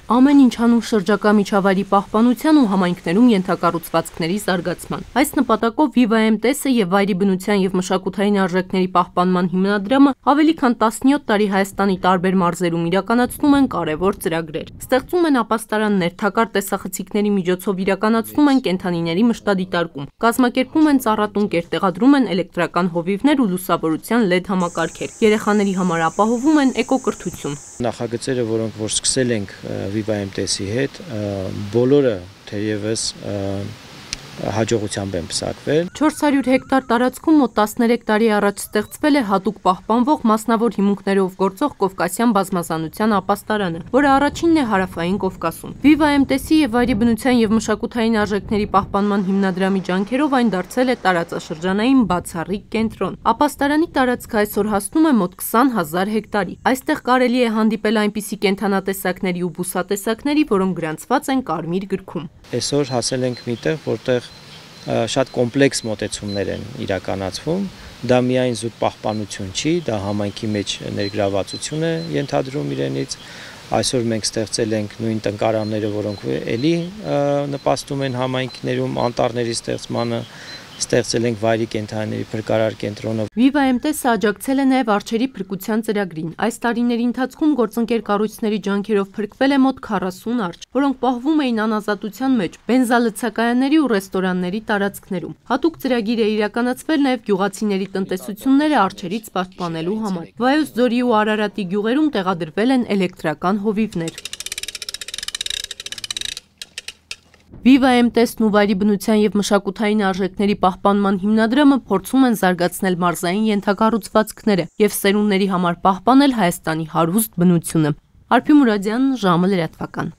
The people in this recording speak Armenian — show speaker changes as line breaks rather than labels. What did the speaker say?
Ամեն ինչ հանում շրջակա միջավայրի պահպանության ու համայնքներում ենթակառուցվածքների զարգացման։ Այս նպատակով Viva MTS-ը եւ Վայրի բնության եւ մշակութային արժեքների պահպանման հիմնադրամը ավելի քան 17 տարի Հայաստանի տարբեր մարզերում իրականացնում են կարևոր ծրագրեր։ Ստեղծում են ապաստարաններ, թակար տեսախցիկների միջոցով իրականացնում են կենդանիների մշտադիտարկում, կազմակերպում են ծառատունկեր, տեղադրում են էլեկտրական հովիվներ ու լուսավորության LED համակարգեր։ Երեխաների համար ապահովում են էկոկրթություն։
Նախագծերը, որոնք որ սկսել ենք Viva MTS-ի հետ, բոլորը թերևս հաջողությամբ են պսակվել։
400 հեկտար տարածքում մոտ 13 տարի առաջ ստեղծվել է հատուկ պահպանվող մասնավոր հիմունքներով գործող Կովկասյան բազմազանության ապաստարանը, որը առաջինն է հարավային Կովկասում։ Viva MTS-ի եւ Վայրի բնության եւ մշակութային արժեքների պահպանման հիմնադրամի ջանքերով այն դարձել է տարածաշրջանային բացառիկ կենտրոն։ Ապաստարանի տարածքը այսօր հասնում է մոտ 20,000 հեկտարի։ Այստեղ կարելի է հանդիպել այնպիսի կենդանատեսակների ու բուսատեսակների, որոնք գրանցված են Կարմիր գրքում։
Այսօր հասել ենք միտեղ, որտեղ շատ կոմպլեքս մոտեցումներ են իրականացվում, դա միայն զուտ պահպանություն չի, դա համայնքի մեջ ներգրավվածություն է ենթադրում իրենից։ Այսօր մենք ստեղծել ենք նույն տնկարանները, որոնք էլի նպաստում են համայնքներում անտառների ստեղծմանը, ստեղծել ենք վայրի կենդանիների փրկարար կենտրոնը։
Viva MTS-ը աջակցել է նաև արջերի փրկության ծրագրին։ Այս տարիների ընթացքում գործընկեր կառույցների ջանքերով փրկվել է մոտ 40 արջ, որոնք պահվում էին անազատության մեջ, բենզալցակայանների ու ռեստորանների տարածքներում։ Հատուկ ծրագիր է իրականացվել նաև գյուղացիների տնտեսությունները արջերից պաշտպանելու համար։ Վայոց ձորի ու Արարատի գյուղերում տեղադրվել են էլեկտրական հովիվներ։ Viva MTS-ն ու Վայրի բնության եւ մշակութային արժեքների պահպանման հիմնադրամը փորձում են զարգացնել մարզային ենթակառուցվածքները եւ սերունդների համար պահպանել Հայաստանի հարուստ բնությունը։ Արփի Մուրադյան, ժամը լրատվական։